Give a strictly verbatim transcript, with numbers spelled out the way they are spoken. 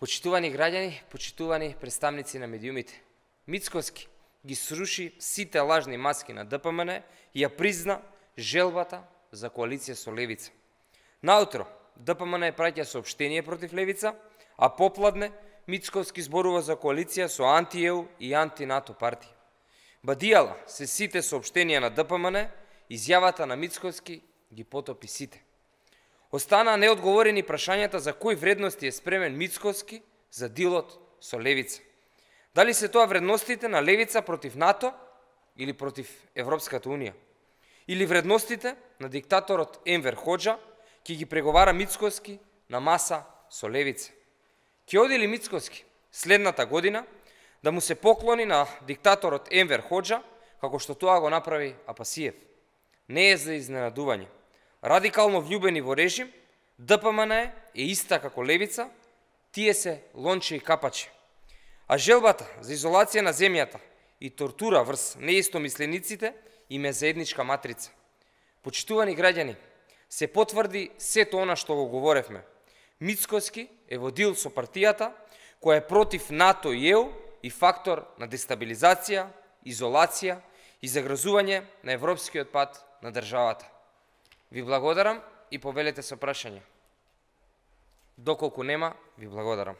Почитувани граѓани, почитувани представници на медиумите, Мицкоски ги сруши сите лажни маски на Д П М Н и ја призна желбата за коалиција со Левица. Наутро, Д П М Н праќа соопштение против Левица, а попладне Мицкоски зборува за коалиција со анти-Е У и анти-НАТО партија. Бадијала се сите соопштенија на Д П М Н, изјавата на Мицкоски ги потопи сите. Остана неодговорени прашањата за кои вредности е спремен Мицкоски за дилот со Левица. Дали се тоа вредностите на Левица против НАТО или против Европската Унија? Или вредностите на диктаторот Енвер Хоџа ќе ги преговара Мицкоски на маса со Левица? Ќе оди ли Мицкоски следната година да му се поклони на диктаторот Енвер Хоџа, како што тоа го направи Апасиев? Не е за изненадување. Радикално влюбени во режим, Д П М Н е иста како Левица, тие се лонче и капаче. А желбата за изолација на земјата и тортура врз неистомислениците им е заедничка матрица. Почитувани граѓани, се потврди сето она што го говоревме. Мицкоски е во дил со партијата која е против НАТО и Е У и фактор на дестабилизација, изолација и загрозување на европскиот пат на државата. Ви благодарам и повелете со прашање. Доколку нема, ви благодарам.